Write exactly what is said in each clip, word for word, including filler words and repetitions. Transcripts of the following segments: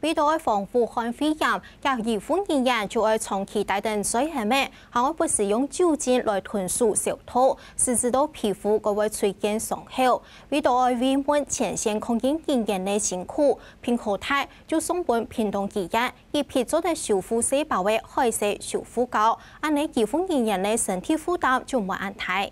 為著愛防武漢肺炎，該醫護人員就愛長期戴等水鞋仔，還愛不時用酒精來吞吐消毒，使之到皮膚該會出現傷口。為著愛慰問前線抗疫人員个辛苦，屏科大就送分屏東醫院一批做得修復細胞个海綿修復膏，恁仔醫護人員个身體負擔就無恁大。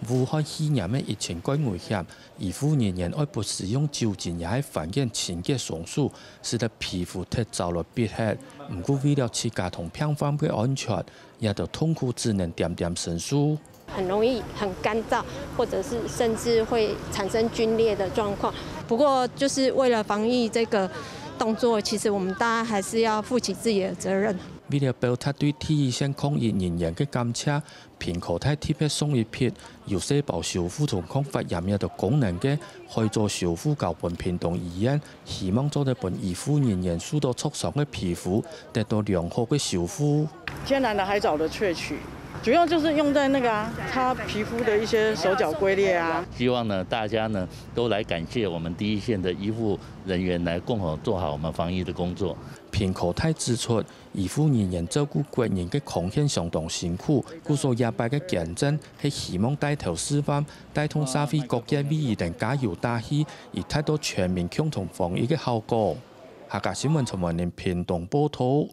武漢肺炎个疫情蓋危險，醫護人員愛不時用酒精也係番梘清潔雙手，使得皮膚忒燥來逼核。毋過為了自家同病患个安全，也都痛苦只能恬恬承受。很容易很乾燥，或者是甚至会产生皲裂的状况。不过，就是为了防疫这个动作，其实我们大家还是要负起自己的责任。为了表达对第一线抗疫人员个感谢，屏科大特别送一批有细胞修复同抗发炎药个功能个海藻修复膏分屏东医院，希望做得分医护人员受到挫伤个皮肤得到良好个修复。天然的海藻的萃取，主要就是用在那个啊，擦皮肤的一些手脚龟裂啊。希望呢，大家呢都来感谢我们第一线的医护人员，来共同做好我们防疫的工作。屏科大指出，医护人员照顾国人个貢献相当辛苦，故所这擺个捐赠係希望带头示范，带动社会各界为佢等加油打气，以达到全民共同防疫个效果。客家新闻陈文林屏东报道。